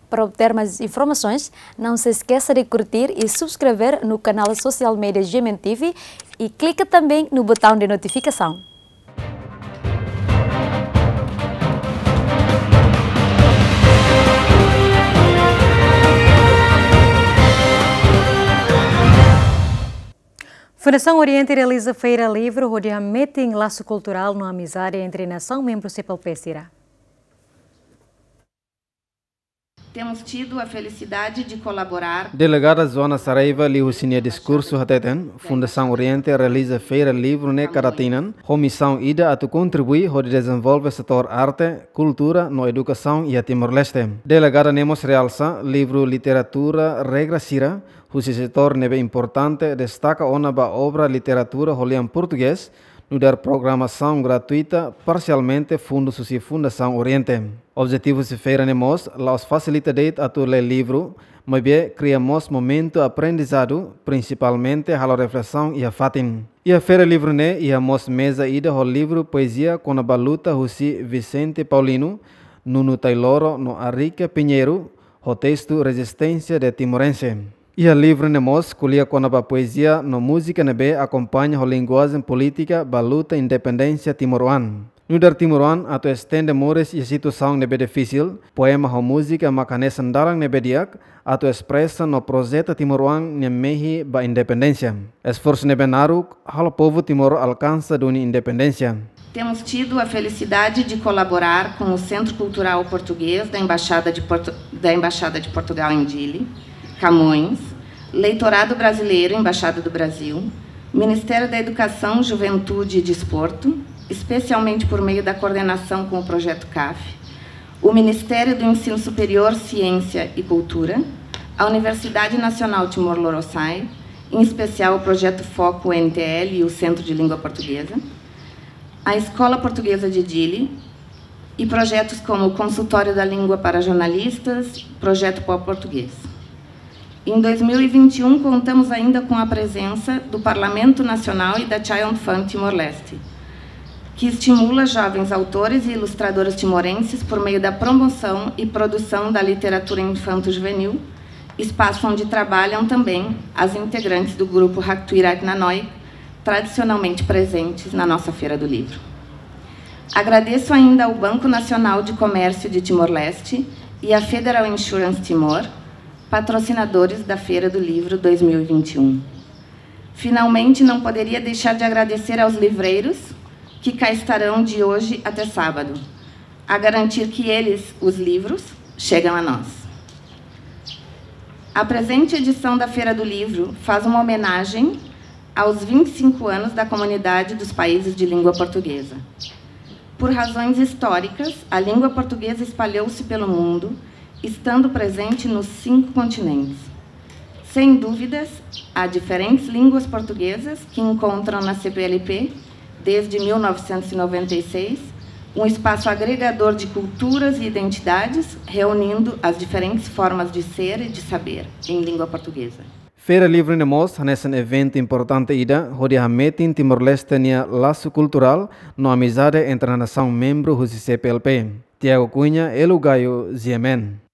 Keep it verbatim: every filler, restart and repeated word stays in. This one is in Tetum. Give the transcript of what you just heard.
Para obter mais informações, não se esqueça de curtir e subscrever no canal social media G M N T V e clica também no botão de notificação. Fundasaun Oriente realiza feira livru hodi hametin lasu kulturál no amizade entre nasaun membru C P L P sira. Temos tido a felicidade de colaborar. Delegada Joana Saraiva liuhusi nia diskursu hateten, Fundasaun Oriente realiza feira livru ne'e kada tinan, ho misaun ida atu kontribui hodi dezenvolve setór arte, kultura no edukasaun iha Timor-Leste. Delegada ne'e mós realsa livru literatura regra sira, husi setór ne'ebé importante, destaka ona ba obra literatura ho lian portugés, nu'udar programasaun gratuita parsialmente fundus husi Fundasaun Oriente. Objetivu husi feira ne'e mós la'ós fasilita de'it atu lee livru, maibé kria mós momentu aprendizadu, prinsipalmente halo reflesaun iha fatin. Iha feira livru ne'e iha mós meza ida ho livru poezia kona-ba luta husi Vicente Paulino, Nuno Tailoro no Arica Pinheiro, ho testu Resistência de Timorense. Iha livru ne'e mós ko'alia kona-ba poezia no múzika ne'ebé akompaña ho linguajen polítika ba luta independénsia timoroan. Nu'udar timoroan atu estende moris iha situasaun ne'ebé difisil, poema ho múzika mak hanesan dalan ne'ebé di'ak atu espresa no projeta timoroan nia mehi ba independénsia. Esforsu ne'ebé naruk halo povu Timor alkansa duni independénsia. Temos tido a felicidade de colaborar com o Centro Cultural Português da Embaixada de Portu-, da Embaixada de Portugal em Dili, Camões, Leitorado Brasileiro, Embaixada do Brasil, Ministério da Educação, Juventude e Desporto, especialmente por meio da coordenação com o Projeto caf, o Ministério do Ensino Superior, Ciência e Cultura, a Universidade Nacional Timor Lorosa'e, em especial o Projeto Foco N T L e o Centro de Língua Portuguesa, a Escola Portuguesa de Dili e projetos como o Consultório da Língua para Jornalistas, Projeto Pó Português. Em dois mil e vinte e um, contamos ainda com a presença do Parlamento Nacional e da Child Fund Timor-Leste, que estimula jovens autores e ilustradores timorenses por meio da promoção e produção da literatura infanto-juvenil, espaço onde trabalham também as integrantes do grupo Haktuirak Nanoik, tradicionalmente presentes na nossa Feira do Livro. Agradeço ainda ao Banco Nacional de Comércio de Timor-Leste e à Federal Insurance Timor, patrocinadores da Feira do Livro dois mil e vinte e um. Finalmente, não poderia deixar de agradecer aos livreiros que cá estarão de hoje até sábado, a garantir que eles, os livros, chegam a nós. A presente edição da Feira do Livro faz uma homenagem aos vinte e cinco anos da Comunidade dos Países de Língua Portuguesa. Por razões históricas, a língua portuguesa espalhou-se pelo mundo, estando presente nos cinco continentes. Sem dúvidas, há diferentes línguas portuguesas que encontram na C P L P, desde mil novecentos e noventa e seis, um espaço agregador de culturas e identidades, reunindo as diferentes formas de ser e de saber em língua portuguesa. Feira Livru ne'e mós hanesan eventu importante ida hodi hametin Timor-Leste nia lasu kulturál no amizade entre nasaun membru husi C P L P. Tiago Cunha, Elo Gayo, G M N.